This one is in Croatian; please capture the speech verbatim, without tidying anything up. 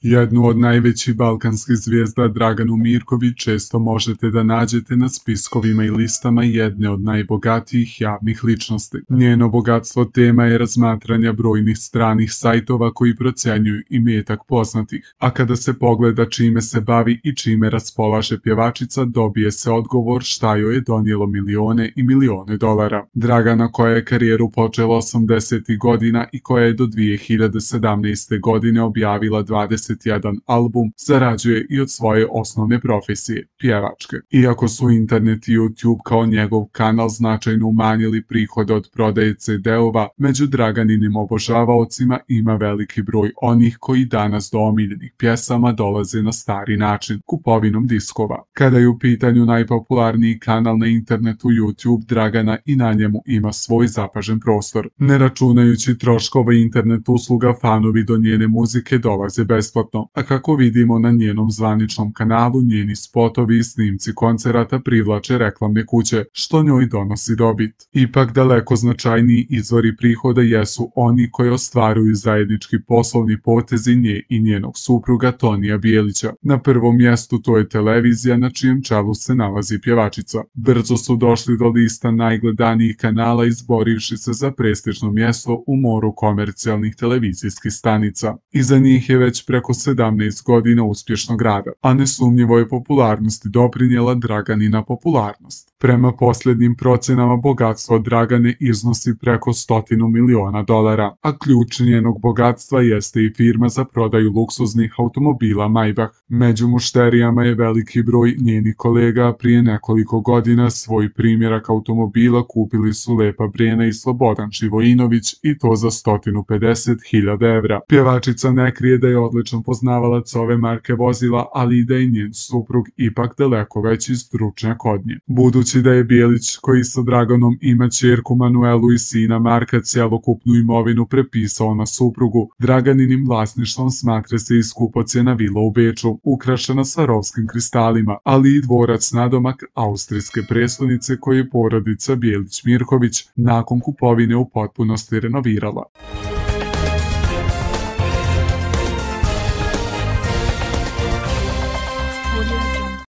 Jednu od najvećih balkanskih zvijezda Draganu Mirković često možete da nađete na spiskovima i listama jedne od najbogatijih javnih ličnosti. Njeno bogatstvo tema je razmatranja brojnih stranih sajtova koji procenjuju imetak poznatih, a kada se pogleda čime se bavi i čime raspolaže pjevačica, dobije se odgovor šta joj je donijelo milione i milione dolara. Dragana, koja je karijeru počela osamdesetih godina i koja je do dvije hiljade sedamnaeste. godine objavila dvadeset jedan album, zarađuje i od svoje osnovne profesije, pjevačke. Iako su internet i YouTube kao njegov kanal značajno umanjili prihode od prodaje ce de-ova, među Draganinim obožavaocima ima veliki broj onih koji danas do omiljenih pjesama dolaze na stari način, kupovinom diskova. Kada je u pitanju najpopularniji kanal na internetu YouTube, Dragana i na njemu ima svoj zapažen prostor. Ne računajući troškova internet usluga, fanovi do njene muzike dolaze besplatno, a kako vidimo na njenom zvaničnom kanalu, njeni spotovi i snimci koncerata privlače reklamne kuće, što njoj donosi dobit. Ipak daleko značajniji izvori prihoda jesu oni koji ostvaruju zajednički poslovni potezi nje i njenog supruga Tonija Bijelića. Na prvom mjestu to je televizija, na čijem čelu se nalazi pjevačica. Brzo su došli do lista najgledanijih kanala, izborivši se za prestižno mjesto u moru komercijalnih televizijskih stanica. Iza njih je već preko sedamnaest godina uspješnog rada, a nesumnjivo je popularnosti doprinijela Draganina popularnost. Prema posljednjim procenama, bogatstvo Dragane iznosi preko stotinu miliona dolara, a ključ njenog bogatstva jeste i firma za prodaju luksuznih automobila Maybach. Među mušterijama je veliki broj njenih kolega, prije nekoliko godina svoj primjerak automobila kupili su Lepa Brena i Slobodan Živojinović, i to za sto pedeset hiljada evra. Pjevačica ne krije da je odličan poznavalac ove marke vozila, ali i da je njen suprug ipak daleko veći stručnjak od nje. Budući da je Bijelić, koji sa Draganom ima ćerku Manuelu i sina Marka, cjelokupnu imovinu prepisao na suprugu, Draganinim vlasništvom smatra se i skupocjena vila u Beču, ukrašena Swarovskim kristalima, ali i dvorac nadomak austrijske prestonice koji je porodica Bijelić-Mirković nakon kupovine u potpunosti renovirala.